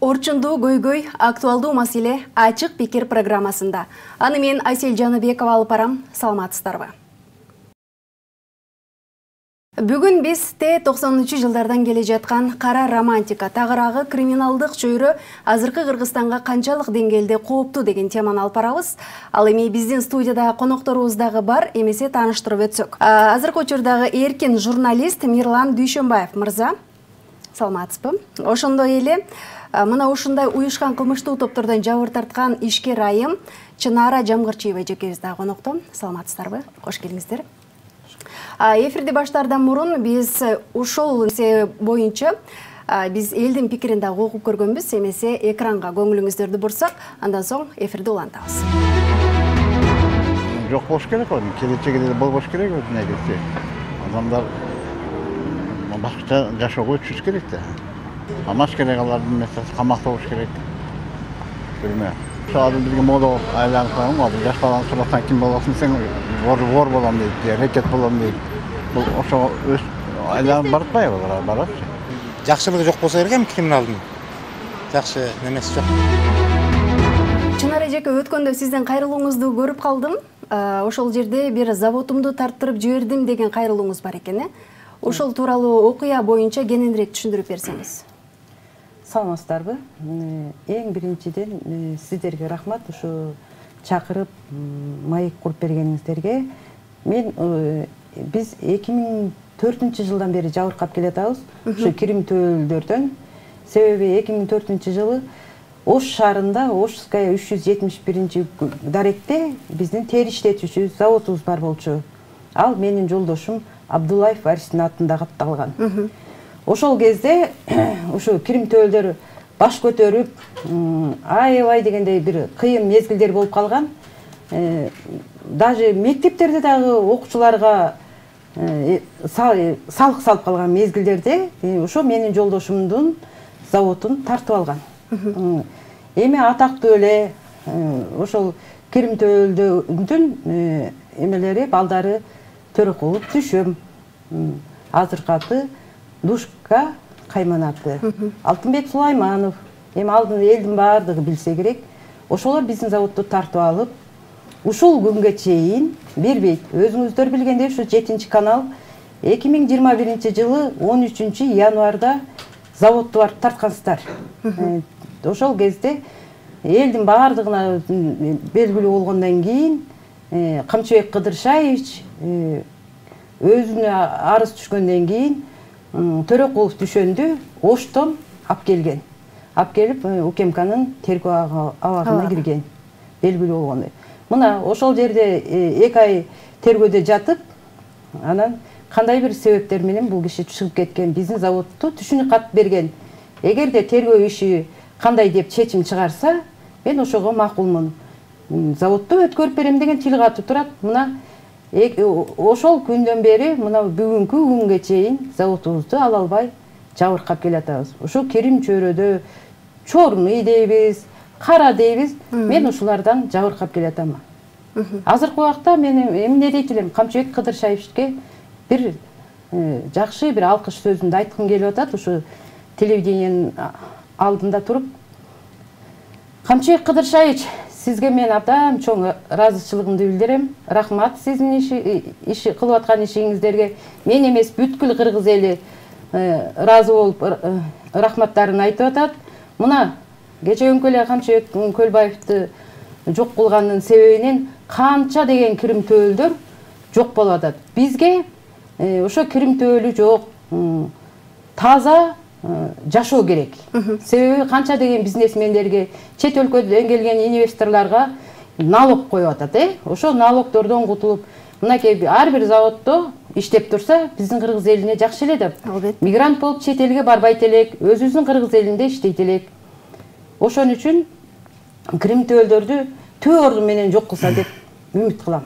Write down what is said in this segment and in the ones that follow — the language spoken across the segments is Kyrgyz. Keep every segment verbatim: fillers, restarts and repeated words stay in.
Орчундуу көйгөй актуалдуу маселе ачык пикир программасында. Аны мен Айсел Жаныбекова алып барам. Саламатсыздарбы? Бүгүн биз Т токсонунчу жылдардан келе жаткан кара романтика, тагыраагы криминалдык чөйрө азыркы Кыргызстанга канчалык деңгээлде кооптуу деген теманы алып барабыз. Ал эми биздин студияда конокторубуз дагы бар, эмесе тааныштырып өтсөк. Азыркы учурдагы эркин журналист Мирлан Дүйшөнбаев мырза. Саламатсызбы? Ошондой эле мына ушундай уюшкан кылмыштуу топтордон жабыр тарткан ишкер айым Чынара Жамгырчиева жекебиз дагы конокто. Саламатсыздарбы? Кош келиңиздер. Эфирди баштаардан мурун биз ушул нерсе боюнча биз элдин пикирин дагы окуп көргөнбүз, эмесе экранга көңүлүңүздөрдү бурсак, андан соң эфирди улантабыз. Жок болуш керек ол, келечегиде болбош керек негизи. Адамдар башкача жашоого өтүш керек да. Амаш керек алардын меселеси камакта болуш керек. Көрмө. Шаады бизге мода айланып калган, азыр жаш баланы сурасаң ким болосуң, сен вор вор болом дейт, рекет болом дейт. Бул ошо өз айланып баратпайбы алар, баратчы. Жакшылыгы жок болсо керек эми криминалдын. Жакшы немеси жок. Чынара эжеке, өткөндө сиздин кайрылууңузду көрүп калдым. Ошол жерде бир заводумду тарттырып жибердим деген кайрылууңуз бар экен, э? Ошол тууралуу окуя боюнча кененирээк түшүндүрүп берсеңиз. Саламатсыздарбы? Эң биринчиден сиздерге рахмат, ушу чакырып, маек куруп бергениңиздерге. Мен биз эки миң төртүнчү жылдан бери жабыркап келатабыз, ушу кирим төөлдөрдөн. Себеби эки миң төртүнчү жылы Ош шаарында Ошская үч жүз жетимиш биринчи даректе биздин тери иштетүүчү заводубуз бар болчу. Ал менин жолдошум Абдуллаев Аристин атында катталган. Ошол кезде ушу кирим төөлдөр баш көтөрүп, аябай дегендей бир кыйын мезгилдер болуп калган. Даже мектептерде дагы окуучуларга салык салып калган мезгилдерде ошо менин жолдошумдун заводун тартып алган. Эми атактуу эле ошол кирим төөлдөрдүн эмелери, балдары Төрөкулов Түшөм, азыркы аты Душка Кайманаты, Алтынбек Сулайманов, эми алдын элдин баардыгы билсе керек. Ошолор биздин заводду тартып алып, ушул күнгө чейин бербейт. Өзүңүздөр билгендей, ушу жетинчи канал эки миң жыйырма биринчи жылы он үчүнчү январда заводду барып тарткансыздар. Ошол кезде элдин баардыгына белгилүү болгондон кийин Камчыбек Кыдыршаевич өзүнө арыз түшкөндөн кийин Төрөкулов Түшөндү Оштон алып келген. Алып келип УКМКнын тергөө абагына кирген. Белгилүү болгондой. Мына ошол жерде эки ай тергөөдө жатып, анан кандай бир себептер менен бул киши чыгып кеткен, биздин заводду түшүнүк кат берген. Эгерде тергөө иши кандай деп чечим чыгарса, мен ошого макулмун. Заводду өткөрүп берем деген тил катып турат. Мына ошол күндөн бери мына бүгүнкү күнгө чейин заводубузду ала албай жабыркап келатабыз. Ушу кирим чөйрөдө чорный дейбиз, кара дейбиз. Мен ушулардан жабыркап келатам. Азыркы убакта мен эмне дейт элем, Камчыбек Кыдыршаевичке бир жакшы бир алкыш сөзүндү айткым келип атат. Ушу телевидениянын алдында туруп, Камчыбек Кыдыршаевич, сизге мен абдан чоң ыраазычылыгымды билдирем. Рахмат сиздин иши кылып аткан ишиңиздерге. Мен эмес, бүткүл кыргыз эли ыраазы болуп рахматтарын айтып атат. Мына кечеөнкү эле Камчыбек Көлбаевди жок кылганын себебинен канча деген кирим төөлдөр жок болуп атат. Бизге ошо кирим төөлү жок, таза жашоо керек. Себеби канча деген бизнесмендерге, чет өлкөдөн келген инвесторлорго налог коюп атат, э? Ошо налогдордон кутулуп, мынакей ар бир заводдо иштеп турса, биздин кыргыз элине жакшы эле да. Мигрант болуп чет элге барбайт элек, өзүбүздүн кыргыз элинде иштейт элек. Ошон үчүн кирим төөлдөрдү түбө орду менен жок кылса деп үмүт кылам.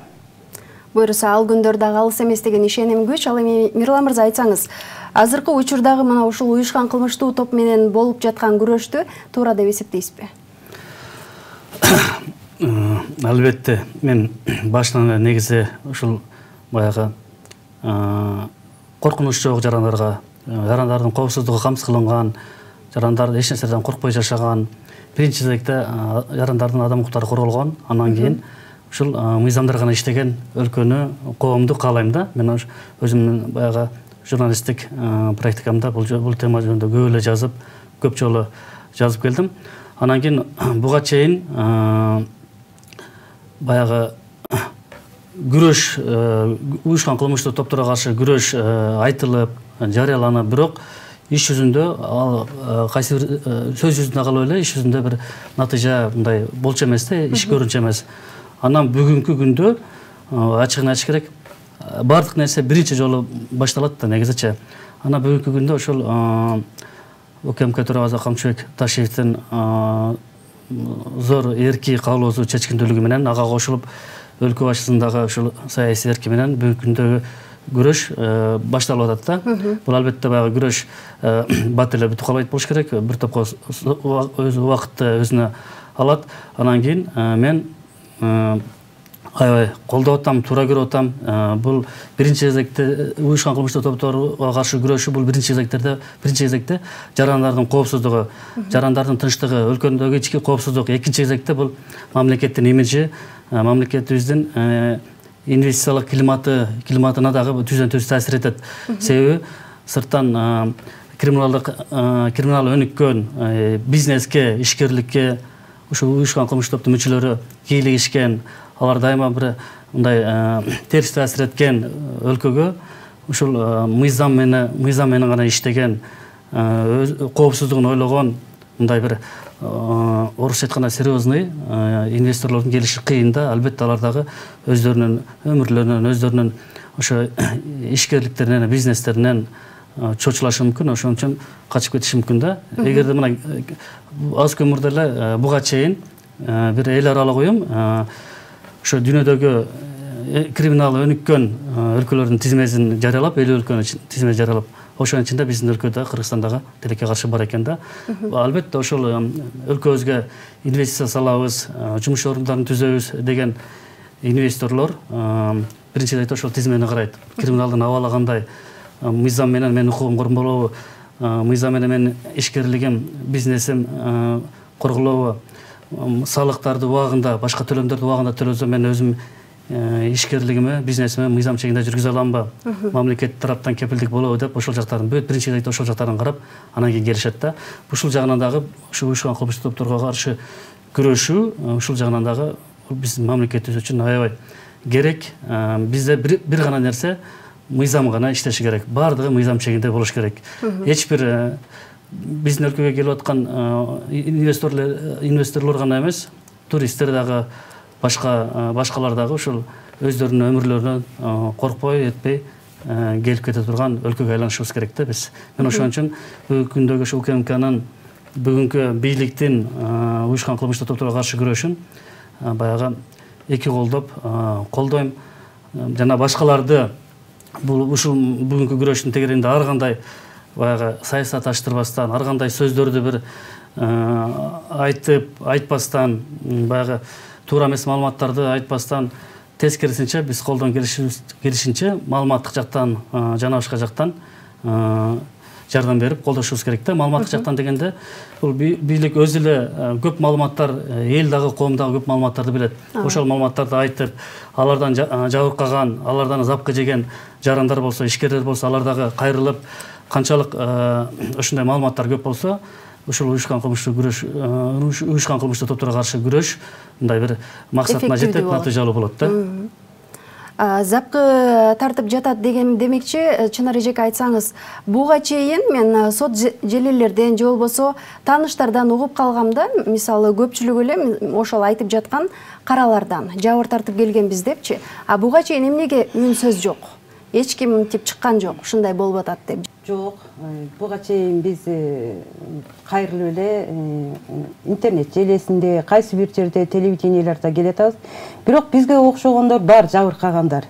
Буюрса, ал күндөр дагы алыс эмес деген ишеним күч. Ал эми Мирлан мырза айтсаңыз, азыркы учурдагы мына ушул уюшкан кылмыштуу топ менен болуп жаткан күрөштү туура деп эсептейсизби? Албетте, мен башынан эле негизи ушул баягы коркунуч жок жарандарга, жарандардын коопсуздугу камсыз кылынган, жарандар эч нерседен коркпой жашаган, биринчи кезекте жарандардын адам укуктары корголгон, анан кийин ушул мыйзамдар гана иштеген өлкөнү, коомду каалайм да. Мен өзүмдүн баягы журналисттик практикамда бул бул тема жөнүндө көп эле жазып, көп жолу жазып келдим. Анан кийин буга чейин баягы күрөш, уюшкан кылмыштуу топторго каршы күрөш айтылып, жарыяланып, бирок иш жүзүндө ал кайсы бир сөз жүзүндө калып эле, иш жүзүндө бир натыйжа мындай болчу эмес да, иш көрүнчү эмес. Анан бүгүнкү күндө ачыгын айтыш керек, бардык нерсе биринчи жолу башталат да негизичи. Анан бүгүнкү күндө ошол УКМК төрагасы Камчыбек Ташиевдин зор эрки каалоосу чечкиндүүлүгү менен ага кошулуп өлкө башчысындагы ушул саясий эрки менен бүгүнкү күндөгү күрөш башталып атат да. Бул албетте баягы күрөш бат эле бүтүп калбайт болуш керек. Бир топко өз убакытты өзүнө алат. Анан кийин мен аябай колдоп атам, туура көрүп атам. Бул биринчи кезекте уюшкан кылмыштуу топторго каршы күрөшүү, бул биринчи кезекте биринчи кезекте жарандардын коопсуздугу, жарандардын тынчтыгы, өлкөдөгү ички коопсуздук. Экинчи кезекте бул мамлекеттин имиджи, мамлекетибиздин инвестициялык климаты, климатына дагы түздөн түз таасир этет. Себеби сырттан криминалдык криминал өнүккөн бизнеске, ишкерликке ушул уюшкан кылмыштуу топтун мүчөлөрү кийлигишкен, алар дайыма бир мындай терс таасир эткен өлкөгө ушул мыйзам менен мыйзам менен гана иштеген, коопсуздугун ойлогон мындай бир орусча айтканда серьезный инвесторлордун келиши кыйын да. Албетте алар дагы өздөрүнүн өмүрлөрүнөн, өздөрүнүн ошо ишкерликтеринен, бизнестеринен чочулашы мүмкүн, ошон үчүн качып кетиши мүмкүн да. Эгерде мына аз көмүрдө эле буга чейин бир эл аралык уюм ошо дүйнөдөгү криминал өнүккөн өлкөлөрдүн тизмесин жарыялап, элүү өлкөнүн тизмесин жарыялап, ошонун ичинде биздин өлкөдө, Кыргызстандагы тилекке каршы бар экен да. Албетте ошол өлкөбүзгө инвестиция салабыз, жумуш орундарын түзөбүз деген инвесторлор биринчи кезекте ошол тизмени карайт. Криминалдын абалы кандай, мыйзам менен менин укугум коргонболобу, мыйзам менен менин ишкерлигим, бизнесим корголобу, салыктарды убагында, башка төлөмдөрдү убагында төлөсөм мен өзүм ишкерлигиме, бизнесиме мыйзам чегинде жүргүзө аламбы, мамлекет тараптан кепилдик болобу деп ошол жактарын бүт биринчи кезекте ошол жактарын карап, анан кийин келишет да. Ушул жагынан дагы ушу уюшкан кылмыштуу топторго каршы күрөшүү, ушул жагынан дагы биздин мамлекетибиз үчүн аябай керек. Бизде бир гана нерсе мыйзам гана иштеши керек. Бардыгы мыйзам чегинде болуш керек. Эч бир биздин өлкөгө келип аткан инвесторлор инвесторлор гана эмес, туристтер дагы, башка башкалар дагы ушул өздөрүнүн өмүрлөрүнөн коркпой, этпей келип кете турган өлкөгө айланышыбыз керек да биз. Мен ошон үчүн бүгүнкү күндөгү ушу УКМКнын бүгүнкү бийликтин уюшкан кылмыштуу топторго каршы күрөшүн баягы эки колдоп колдойм. Жана башкаларды бул ушул бүгүнкү күрөштүн тегерегинде ар кандай баягы саясат аштырбастан, ар кандай сөздөрдү бир айтып, айтпастан, баягы туура эмес маалыматтарды айтпастан, тескерисинче биз колдон келишинче маалыматтык жактан, жана башка жактан жардам берип колдошубуз керек да. Маалыматтык жактан дегенде бул бийлик өзү эле көп маалыматтар, эл дагы, коом дагы көп маалыматтарды билет. Ошол маалыматтарды айтып, алардан жабыркаган, алардан запкы жеген жарандар болсо, ишкерлер болсо, алар дагы кайрылып, канчалык ушундай маалыматтар көп болсо, ушул уюшкан кылмыштуу күрөш, уюшкан кылмыштуу топторго каршы күрөш мындай бир максатына жетип, натыйжалуу болот да. Запкы тартып жатат деген демекчи, Чынар эжеке айтсаңыз, буга чейин мен сот желелерден же болбосо тааныштардан угуп калгамда, мисалы көпчүлүк эле ошол айтып жаткан каралардан жабыр тартып келгенбиз депчи. А буга чейин эмнеге үн сөз жок? Эч ким тип чыккан жок, ушундай болуп атат деп. Жок, буга чейин биз кайрылып эле интернет желесинде, кайсы бир жерде телевидениелерде келе атабыз. Бирок бизге окшогондор бар, жабыркагандар.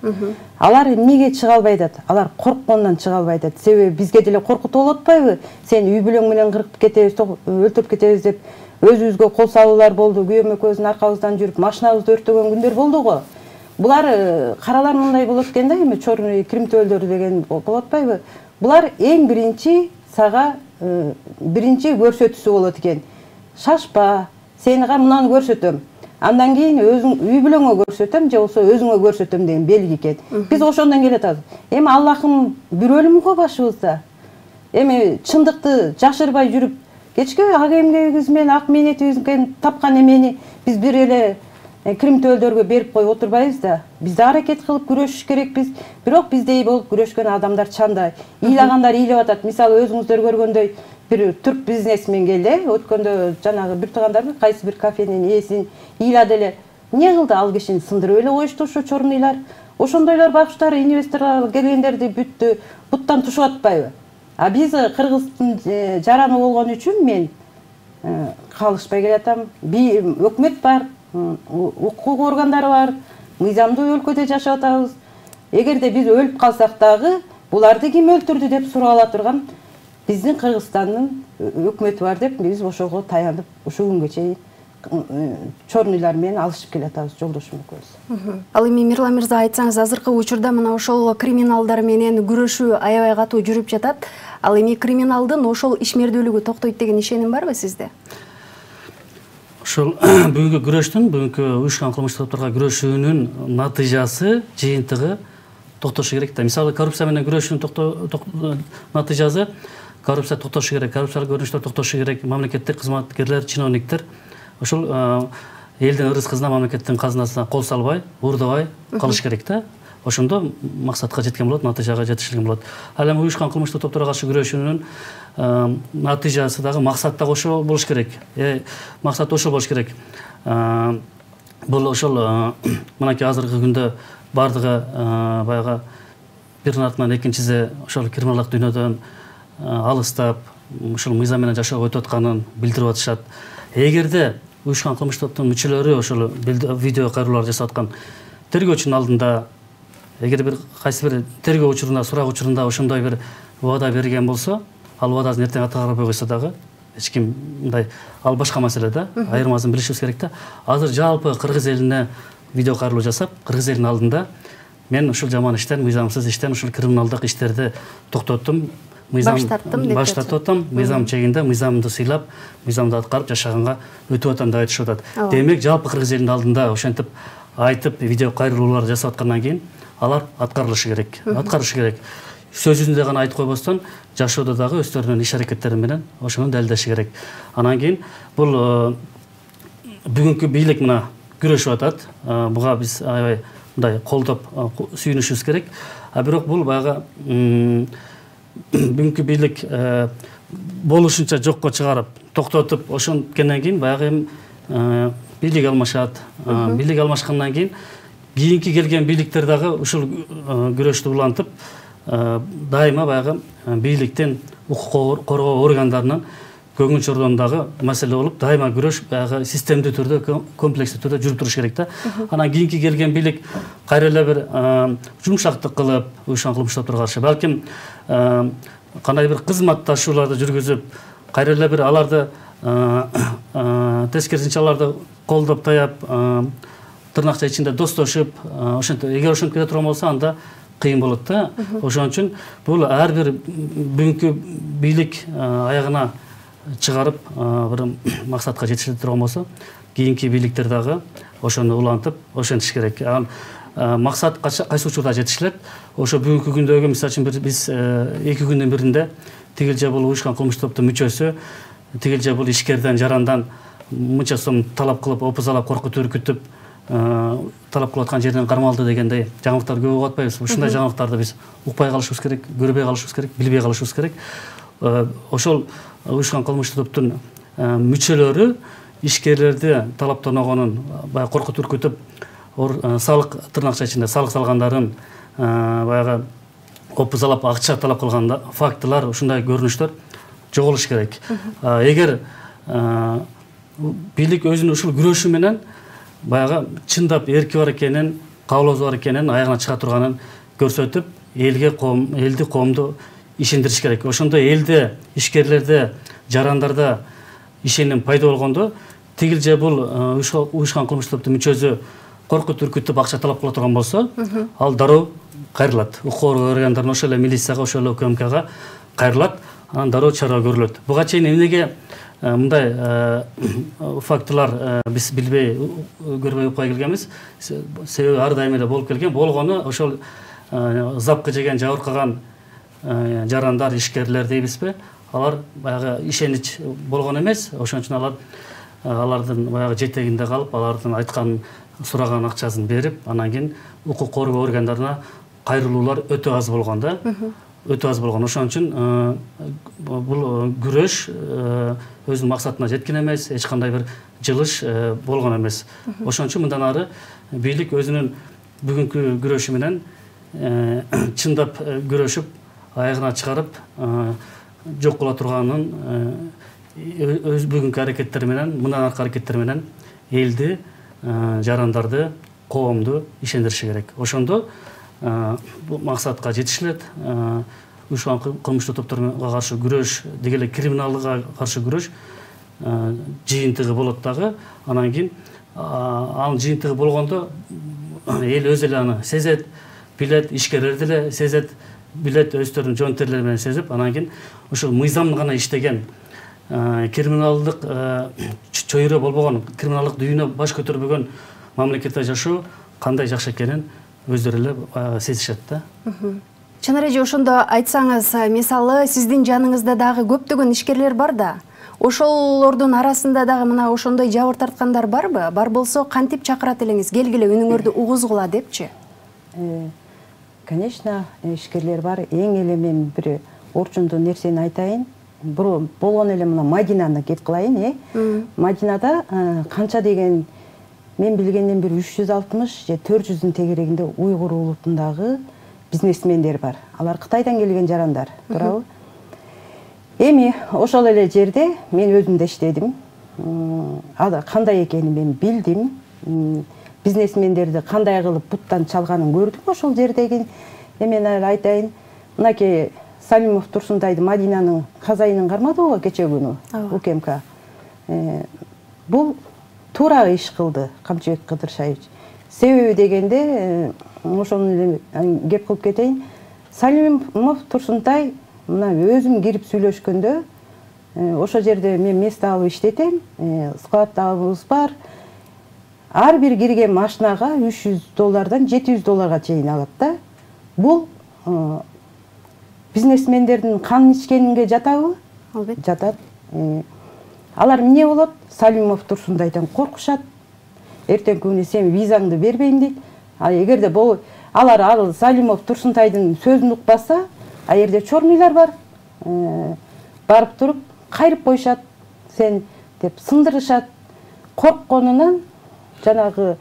Алар эмнеге чыга албай атат? Алар корккондон чыга албай атат. Себеби бизге деле коркутуп болуп атпайбы? Сен үй бүлөң менен кыркып кетебиз, өлтүрүп кетебиз деп өзүбүзгө кол салуулар болду. Күйөөм экөөбүздүн аркабыздан жүрүп машинабызды өрттөгөн күндөр болду го. Булар каралар мындай болот экен да, эми чор кримтөөлдөр деген болуп атпайбы? Булар эң биринчи сага биринчи көрсөтүүсү болот экен. Шашпа, сени мынаны көрсөтөм. Андан кийин өзүң үй бүлөңө көрсөтөм же болбосо өзүңө көрсөтөм деген белги экен. Биз ошондон келатабыз. Эми Аллахым бир өлүм го башыбызда. Эми чындыкты жашырбай жүрүп, кечке ак эмгегибиз менен ак мээнетибизден тапкан эмени биз бир эле кримтөөлдөргө берип коюп отурбайбыз да. Биз да аракет кылып күрөшүш керекпиз. Бирок биздей болуп күрөшкөн адамдар чанда. Ыйлагандар ыйлап атат. Мисалы өзүңүздөр көргөндөй бир түрк бизнесмен келди. Өткөндө жанагы бир туугандар кайсы бир кафенин ээсин ыйлады эле. Эмне кылды ал кишини сындырып эле коюшту ошо чорунуйлар. Ошондойлор багыштар инвесторлор келгендерди бүттү, буттан тушуп атпайбы? А биз Кыргыздын жараны болгон үчүн мен калышпай келатам. Өкмөт бар, укук органдары бар, мыйзамдуу өлкөдө жашап атабыз. Эгерде биз өлүп калсак дагы, буларды ким өлтүрдү деп сурала турган биздин Кыргызстандын өкмөтү бар деп биз ошого таянып, ушул күнгө чейин чорунуйлар менен алышып келатабыз жолдошум экөөбүз. Ал эми Мирлан мырза, айтсаңыз, азыркы учурда мына ошол криминалдар менен күрөшүү аябай катуу жүрүп жатат. Ал эми криминалдын ошол ишмердүүлүгү токтойт деген ишеним барбы сизде? Ошол бүгүнкү күрөштүн, бүгүнкү уюшкан кылмыштык топторго күрөшүүнүн натыйжасы, жыйынтыгы токтошу керек да. Мисалы, коррупция менен күрөшүүнүн натыйжасы коррупция токтошу керек, коррупциялык көрүнүштөр токтошу керек, мамлекеттик кызматкерлер, чиновниктер ошол элдин ырыс кызына, мамлекеттин казынасына кол салбай, уурдабай калыш керек да. Ошондо максатка жеткен болот, натыйжага жетишилген болот. Ал эми уюшкан кылмыштык топторго каршы күрөшүүнүн натыйжасы дагы максат дагы ошол болуш керек. Максат ошол болуш керек. Бул ошол мынакей азыркы күндө бардыгы баягы биринин артынан экинчиси ошол криминалдык дүйнөдөн алыстап, ушул мыйзам менен жашоого өтүп атканын билдирип атышат. Эгерде уюшкан кылмыштык топтун мүчөлөрү ошол видео кайрылуулар жасап аткан тергөөчүнүн алдында, эгер бир кайсы бир тергөө учурунда, сурак учурунда ошондой бир убада берген болсо, ал убадасын эртең аткарбай койсо дагы эч ким мындай, ал башка маселе да, айырмасын билишибиз керек да. Азыр жалпы кыргыз элине видео кайрылуу жасап, кыргыз элинин алдында мен ушул жаман иштен, мыйзамсыз иштен, ушул криминалдык иштерди токтоттум, мыйзам баш тарттым деп баш тартып атам, мыйзам чегинде мыйзамды сыйлап, мыйзамды аткарып жашаганга өтүп атам деп айтышып атат. Демек, жалпы кыргыз элинин алдында ошентип айтып, видео кайрылуулар жасап аткандан кийин алар аткарылышы керек, аткарышы керек. Сөз жүзүндө гана айтып койбостон, жашоодо дагы өздөрүнүн иш аракеттери менен ошону далилдеши керек. Анан кийин бул бүгүнкү бийлик мына күрөшүп атат. Буга биз аябай мындай колдоп сүйүнүшүбүз керек. А бирок бул баягы бүгүнкү бийлик болушунча жокко чыгарып, токтотуп, ошонткенден кийин баягы бийлик алмашат. Бийлик алмашкандан кийин кийинки келген бийликтер дагы ушул күрөштү улантып, дайыма баягы бийликтин, укук коргоо органдарынын көңүл чордондагы маселе болуп, дайыма күрөш баягы системдүү түрдө, комплекстүү түрдө жүрүп туруш керек да. Анан кийинки келген бийлик кайра эле бир жумшактык кылып, уюшкан кылмыштык топторго каршы, балким кандай бир кызматташууларды жүргүзүп, кайра эле бир аларды тескерисинче аларды колдоп таяп, тырнакча ичинде достошуп, ошентип, эгер ошентип кете турган болсо, анда кыйын болот да. Ошон үчүн бул ар бир бүгүнкү бийлик аягына чыгарып, бир максатка жетише турган болсо, кийинки бийликтер дагы ошону улантып, ошентиш керек. Максат кайсы учурда жетишилет? Ошо бүгүнкү күндөгү, мисалы үчүн биз эки күндүн биринде тигилже бул уюшкан кылмыштык топтун мүчөсү, тигилже бул ишкерден, жарандан мынча сом талап кылып, опузалап, коркутуп, үркүтүп, талап кылып аткан жерден кармалды дегендей жаңылыктар көп угуп атпайбыз. Ушундай жаңылыктарды биз укпай калышыбыз керек, көрбөй калышыбыз керек, билбей калышыбыз керек. Ошол уюшкан кылмыштык топтун мүчөлөрү ишкерлерди талаптаногонун, баягы коркутуп, үркүтүп, салык тырнакча ичинде салык салгандарын, баягы опузалап акча талап кылган фактылар, ушундай көрүнүштөр жоголуш керек. Эгер бийлик өзүнүн ушул күрөшү менен баягы чындап эрки бар экенин, каалоосу бар экенин, аягына чыга турганын көрсөтүп, элге, коом, элди, коомду ишендириш керек. Ошондо элде, ишкерлерде, жарандарда ишеним пайда болгондо, тигилже бул уюшкан кылмыштык топтун мүчөсү коркутуп, үркүтүп акча талап кыла турган болсо, ал дароо кайрылат. Укук органдарына, ошол эле милицияга, ошол эле УКМКга кайрылат. анан дароо чара көрүлөт. Буга чейин эмнеге мындай фактылар биз билбей көрбөй укпай келгенбиз. Себеби ар дайым эле болуп келген. Болгону ошол запкы жеген, жабыркаган жарандар, ишкерлер дейбизби? Алар баягы ишенич болгон эмес. Ошон үчүн алар алардын баягы жетегинде калып, алардын айткан, сураган акчасын берип, анан кийин укук коргоо органдарына кайрылуулар өтө аз болгон да. Өтө аз болгон. Ошон үчүн бул күрөш өзүнүн максатына жеткен эмес, эч кандай бир жылыш болгон эмес. Ошон үчүн мындан ары бийлик өзүнүн бүгүнкү күрөшү менен чындап күрөшүп, аягына чыгарып, жок кыла турганын өз бүгүнкү аракеттери менен, мындан аркы аракеттери менен элди, жарандарды, коомду ишендириши керек. Ошондо бул максатка жетишилет. Уюшкан кылмыштуу топторго каршы күрөш, деги эле криминалдыкка каршы күрөш жыйынтыгы болот дагы. Анан кийин анын жыйынтыгы болгондо эл өзү эле аны сезет, билет, ишкерлер деле сезет, билет, өздөрүнүн жоонтерлери менен сезип, анан кийин ошол мыйзам гана иштеген, криминалдык чөйрө болбогон, криминалдык дүйнө баш көтөрбөгөн мамлекетте жашоо кандай жакшы экенин өздөрү эле сезишет да. Чынар эже, ошондо айтсаңыз, мисалы сиздин жаныңызда дагы көптөгөн ишкерлер бар да. Ошолордун арасында дагы мына ошондой жабыр тарткандар барбы? Бар болсо кантип чакырат элеңиз? Келгиле үнүңөрдү угузгула депчи? Конечно, ишкерлер бар. Эң эле мен бир орчундуу нерсени айтайын. Болгон эле мына Мадинаны кеп кылайын, э? Мадинада канча деген мен билгенден бир үч жүз алтымыш же төрт жүздүн тегерегинде уйгур улутундагы бизнесмендер бар. Алар Кытайдан келген жарандар, туурабы? Эми ошол эле жерде мен өзүм да иштедим. Кандай экенин мен билдим. Бизнесмендерди кандай кылып буттан чалганын көрдүм ошол жердеги. Мен айтайын, мынакей Салимов Турсунтайды Мадинанын казайынын кармадыбы кече күнү УКМК. Бул туура иш кылды Камчыбек Кыдыршаевич. Себеби дегенде, ошону кеп кылып кетейин. Салимов Турсунтай мына өзүм кирип сүйлөшкөндө, ошол жерде мен место алып иштетем, складдабыз бар. Ар бир кирген машинага үч жүз доллардан жети жүз долларга чейин алат да. Бул бизнесмендердин кан ичкенинге жатабы? Албетте. Жатат. Алар эмне болот? Салимов Турсунтайдан коркушат. Эртең күнү сен визаңды бербейм дейт. А эгерде бул алар ал Салимов Турсунтайдын сөзүн укпаса, а жерде чорныйлар бар. Барып туруп кайрып коюшат, сен деп сындырышат. Коркконунан жанагы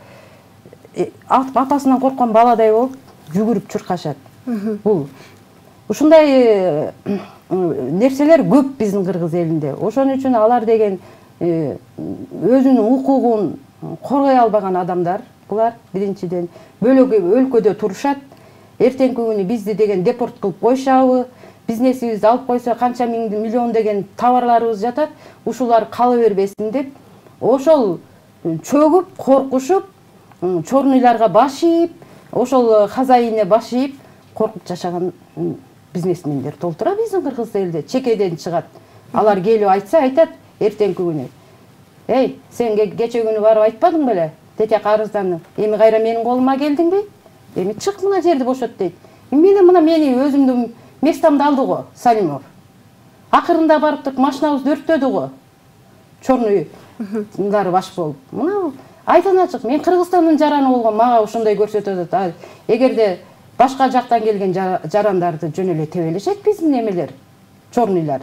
апасынан корккон баладай болуп жүгүрүп чуркашат. Бул ушундай нерселер көп биздин кыргыз элинде. Ошон үчүн алар деген өзүнүн укугун коргой албаган адамдар. Булар биринчиден бөлөк өлкөдө турушат. Эртеңки күнү бизди деген депорт кылып койшабы, бизнесибизди алып койсо канча миллион деген товарларыбыз жатат, ушулар кала бербесин деп, ошол чөгүп, коркушуп, чорныйларга башыйып, ошол хозяине башыйып, коркуп жашаган бизнесмендер толтура биздин кыргыз элде, чекеден чыгат. Алар келип айтса айтат эртеңки күнү. Эй, сен кече күнү барып айтпадың беле? Тете карыздан, эми кайра менин колума келдиңби? Эми чык мына жерди бошот дейт. Мен мына мени өзүмдүн местомду алды го Салимов. Акырында барып туруп машинабызды өрттөдү го. Чорнуйлар баш болуп. Мына айтан ачык, мен Кыргызстандын жараны болгон, мага ошондой көрсөтөт. Эгерде башка жактан келген жарандарды жөн эле тебелешет биздин эмелер, чорныйлар.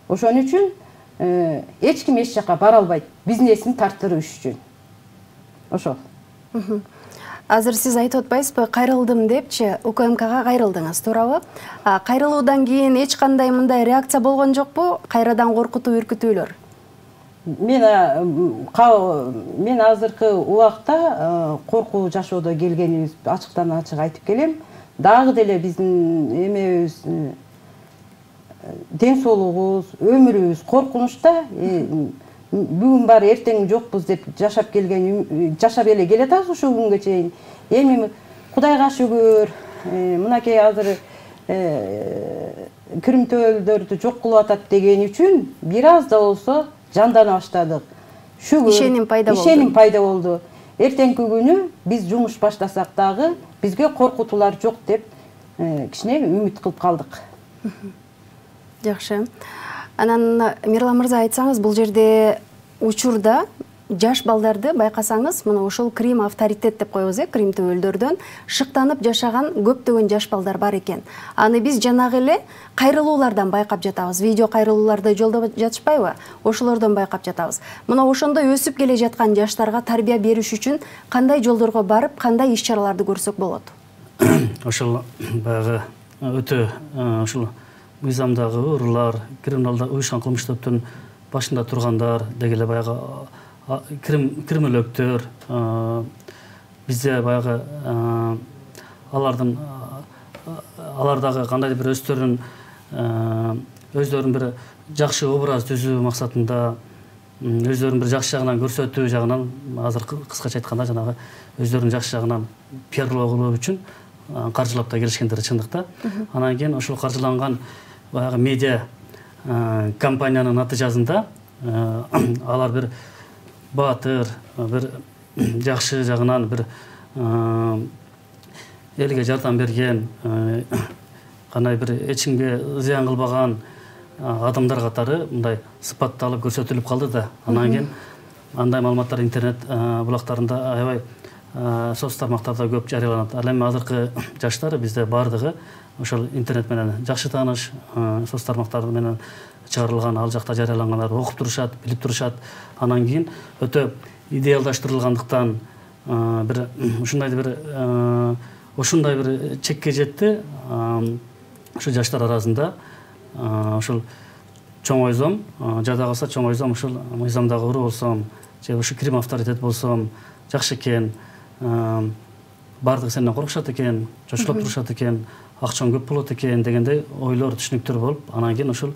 Ошон үчүн эч ким эч жака бара албайт, бизнесин тарттырыш үчүн. Ошол. Азыр сиз айтып атпайсызбы, кайрылдым депчи, УКМКга кайрылдыңыз, туурабы? Кайрылуудан кийин эч кандай мындай реакция болгон жокпу? Кайрадан коркутуу, үркүтүүлөр? Мен мен азыркы убакта коркуу жашоодо келгенибиз ачыктан ачык айтып келем. Дагы деле биздин эмебиз, ден соолугубуз, өмүрүбүз коркунучта. Бүгүн бар, эртең жокпуз деп жашап келген, жашап эле келатабыз ушул күнгө чейин. Эми Кудайга шүгүр, мынакей азыр кирмтөөлдөрдү жок кылып атат деген үчүн бир аз да болсо жандана баштадык. Шүгүр ишеним пайда болду. Ишеним пайда болду. Эртеңки күнү биз жумуш баштасак дагы бизге коркутуулар жок деп кичине үмүт кылып калдык. Жакшы. Анан Мирлан мырза, айтсаңыз, бул жерде учурда жаш балдарды байкасаңыз, мына ошол Крим авторитет деп коебуз, э, Крим төбөлдөрдөн шыктанып жашаган көптөгөн жаш балдар бар экен. Аны биз жанагы эле кайрылуулардан байкап жатабыз. Видео кайрылууларды жолдоп жатышпайбы? Ошолордон байкап жатабыз. Мына ошондой өсүп келе жаткан жаштарга тарбия бериш үчүн кандай жолдорго барып, кандай иш-чараларды көрсөк болот? Ошол баягы өтө ошол мыйзамдагы уруулар, криминалдык уюшкан кылмыш топтун башында тургандар, деги эле баягы кирмелөктөр, бизде баягы алардын алардагы кандайдыр бир өздөрүнүн өздөрүнүн бир жакшы образ түзүү максатында, өздөрүнүн бир жакшы жагынан көрсөтүү жагынан, азыр кыскача айтканда жанагы өздөрүнүн жакшы жагынан пиарлоо кылуу үчүн каржылап да келишкендер чындыкта. Анан кийин ошол каржыланган баягы медиа компаниянын натыйжасында алар бир баатыр, бир жакшы жагынан бир элге жардам берген, кандай бир эч кимге зыян кылбаган адамдар катары мындай сыпатталып көрсөтүлүп калды да. Анан кийин андай маалыматтар интернет булактарында аябай соц тармактарда көп жарыяланат. Ал эми азыркы жаштар бизде бардыгы ошол интернет менен жакшы тааныш, соц тармактар менен чыгарылган, ал жакта жарыялангандар окуп турушат, билип турушат. Анан кийин өтө идеалдаштырылгандыктан бир ушундай бир ушундай бир чекке жетти. Ошо жаштар арасында ошол чоңойзом, жада калса чоңойзом ушул мыйзамдагы уруу болсом, же ушу Крим авторитет болсом жакшы экен, бардыгы сенден коркушат экен, чочулуп турушат экен, акчаң көп болот экен дегендей ойлор, түшүнүктөр болуп, анан кийин ошол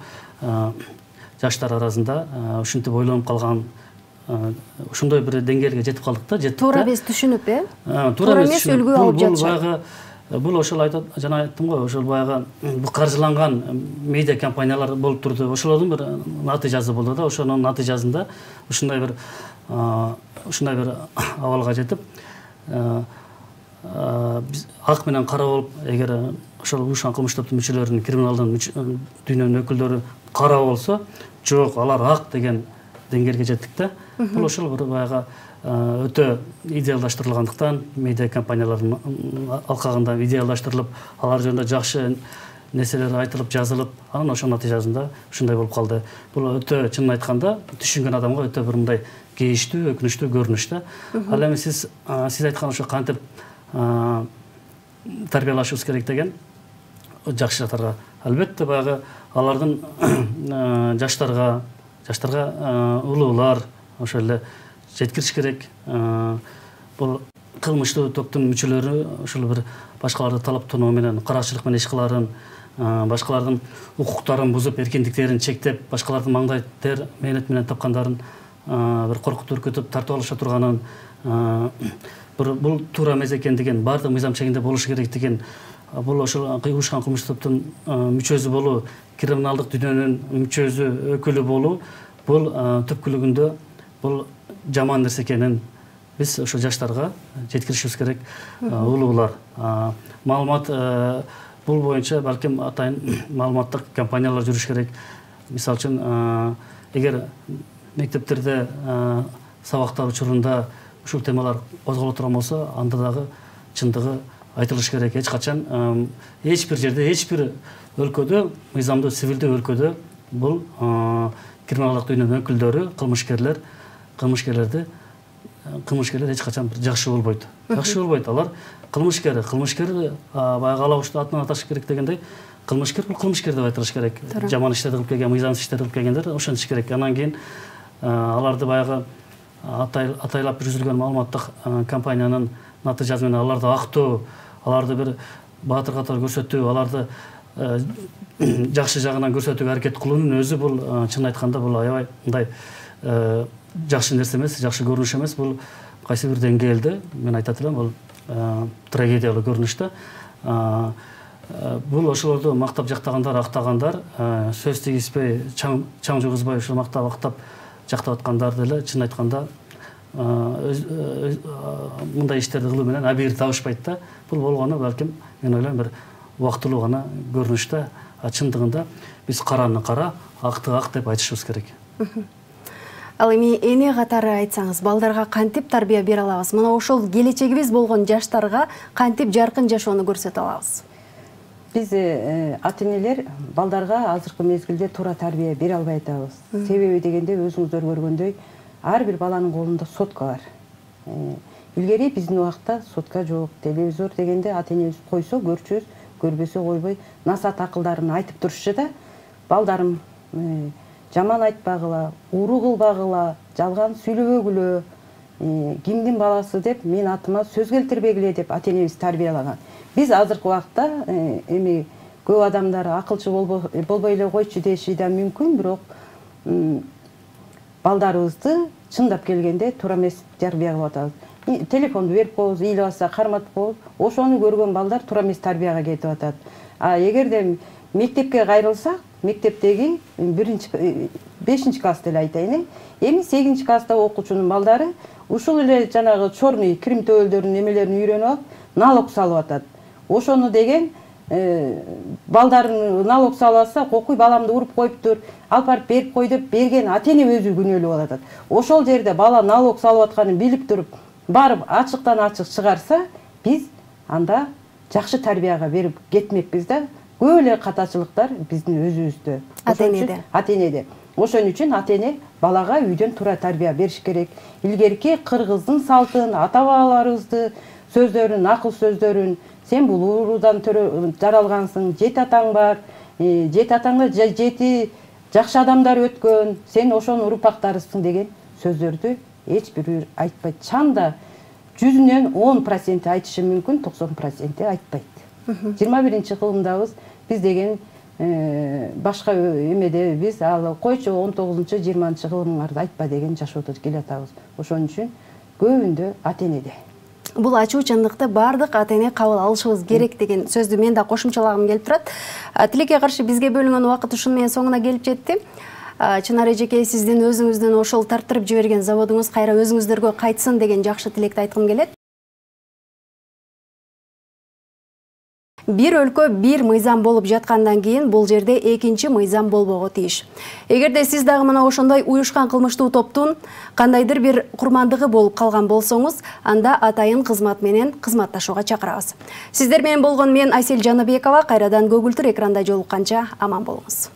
жаштар арасында ушинтип ойлонуп калган, ошондой бир деңгээлге жетип калдык да, жеттик да. Туура эмес түшүнүп, э? Туура эмес үлгү алып жатышат. Бул ошол айтат, жана айттым го, ошол баягы бул каржыланган медиа компаниялар болуп турду. Ошолордун бир натыйжасы болду да. Ошонун натыйжасында ушундай бир ушундай бир абалга жетип, биз ак менен кара болуп, эгер ошол уюшкан кылмыш топтун мүчөлөрүнүн, криминалдын дүйнөнүн өкүлдөрү кара болсо, жок, алар ак деген деңгээлге жеттик да. Бул ошол бир баягы өтө идеалдаштырылгандыктан, медиа компаниялардын алкагында идеалдаштырылып, алар жөнүндө жакшы нерселер айтылып, жазылып, анан ошол натыйжасында ушундай болуп калды. Бул өтө, чынын айтканда, түшүнгөн адамга өтө бир мындай кейиштүү, өкүнүчтүү көрүнүш да. Ал эми сиз сиз айткан ошо кантип тарбиялашыбыз керек деген жакшы жактарга, албетте баягы алардын жаштарга, жаштарга улуулар ошол эле жеткириш керек. Бул кылмыштуу топтун мүчөлөрү ошол бир башкаларды талаптонуу менен, каракчылык менен иш кыларын, башкалардын укуктарын бузуп, эркиндиктерин чектеп, башкалардын маңдай тер мээнет менен тапкандарын бир коркутуп, үркүтүп, тартып алыша турганын, бул туура эмес экендигин, баардык мыйзам чегинде болушу керектигин, бул ошол уюшкан кылмыш топтун мүчөсү болуу, криминалдык дүйнөнүн мүчөсү, өкүлү болуу, бул түпкүлүгүндө бул жаман нерсе экенин биз ошо жаштарга жеткиришибиз керек. Улуулар маалымат бул боюнча балким атайын маалыматтык компаниялар жүрүш керек. Мисалы үчүн, эгер мектептерде сабактар учурунда ушул темалар козголо турган болсо, анда дагы чындыгы айтылыш керек. Эч качан эч бир жерде, эч бир өлкөдө, мыйзамдуу цивилдүү өлкөдө бул криминалдык дүйнөнүн өкүлдөрү, кылмышкерлер, кылмышкерлерди кылмышкерлер эч качан жакшы болбойт. Жакшы болбойт. Алар кылмышкер, кылмышкер баягы алабушты атынан аташ керек дегендей, кылмышкер бул кылмышкер деп айтылыш керек. Жаман иштерди кылып келген, мыйзамсыз иштерди кылып келгендер ошентиш керек. Анан кийин аларды баягы атайлап жүргүзүлгөн маалыматтык компаниянын натыйжасы менен аларды актоо, аларды бир баатыр катары көрсөтүү, аларды жакшы жагынан көрсөтүүгө аракет кылуунун өзү бул чын айтканда бул аябай мындай жакшы нерсе эмес, жакшы көрүнүш эмес. Бул кайсы бир деңгээлде мен айтат элем, бул трагедиялуу көрүнүш да. Бул ошолорду мактап жактагандар, актагандар, сөз тийгизбей, чаң жугузбай ушул мактап актап жактап аткандар деле чын айтканда мындай иштерди кылуу менен абийир табышпайт да. Бул болгону балким мен ойлойм бир убактылуу гана көрүнүш да. Чындыгында биз караны кара, акты ак деп айтышыбыз керек. Ал эми эне катары айтсаңыз, балдарга кантип тарбия бере алабыз? Мына ошол келечегибиз болгон жаштарга кантип жаркын жашоону көрсөтө алабыз? Биз ата-энелер балдарга азыркы мезгилде туура тарбия бере албай атабыз. Себеби дегенде өзүңүздөр көргөндөй, ар бир баланын колунда сотка бар. Илгери биздин убакта сотка жок, телевизор дегенде ата-энебиз койсо көрчүбүз, көрбөсө койбой насаат акылдарын айтып турушчу да. Балдарым жаман айтпагыла, уруу кылбагыла, жалган сүйлөбөгүлө, кимдин баласы деп мен атыма сөз келтирбегиле деп ата-энебиз тарбиялаган. Биз азыркы убакта эми көп адамдар акылчы болбой эле койчу деши да мүмкүн, бирок балдарыбызды чындап келгенде туура эмес тарбия кылып атабыз. Телефонду берип коебуз, ийли баса карматып коебуз. Ошону көргөн балдар туура эмес тарбияга кетип атат. А эгерде мектепке кайрылсак, мектептеги биринчи бешинчи класс деле айтайын, эми сегизинчи класста окуучунун балдары ушул эле жанагы чорный кирим төбөлдөрүнүн эмелерин үйрөнүп алып, налог салып атат. Ошону деген балдарын налог салып атса, кокуй баламды уруп коюптур, алып барып берип кой деп берген ата-эне өзү күнөөлүү болуп атат. Ошол жерде бала налог салып атканын билип туруп, барып ачыктан ачык чыгарса, биз анда жакшы тарбияга берип кетмекпиз да. Көп эле катачылыктар биздин өзүбүздө, ата-энеде. Ата-энеде. Ошон үчүн ата-эне балага үйдөн туура тарбия бериш керек. Илгерки кыргыздын салтын, ата-бабаларыбызды сөздөрүн, акыл сөздөрүн, сен бул уруудан жаралгансың, жети атаң бар, жети атаңда жети жакшы адамдар өткөн, сен ошонун урпактарысың деген сөздөрдү эч бирөө айтпайт. Чанда жүзүнөн он проценти айтышы мүмкүн, токсон проценти айтпайт. жыйырма биринчи кылымдабыз, биз деген башка эмеде биз ал койчу он тогузунчу жыйырманчы кылымыңарды айтпа деген жашоодо келатабыз. Ошон үчүн көбүндө ата-энеде. Бул ачуу чындыкты бардык ата-эне кабыл алышыбыз керек деген сөздү мен да кошумчалагым келип турат. Тилекке каршы бизге бөлүнгөн убакыт ушуну менен соңуна келип жетти. Чынар эжеке, сиздин өзүңүздүн ошол тартырып жиберген заводуңуз кайра өзүңүздөргө кайтсын деген жакшы тилекти айткым келет. Бир өлкө бир мыйзам болуп жаткандан кийин бул жерде экинчи мыйзам болбого тийиш. Эгерде сиз дагы мына ошондой уюшкан кылмыштуу топтун кандайдыр бир курмандыгы болуп калган болсоңуз, анда атайын кызмат менен кызматташууга чакырабыз. Сиздер менен болгон мен Айсел Жаныбекова, кайрадан көгүлтүр экранда жолукканча аман болуңуз.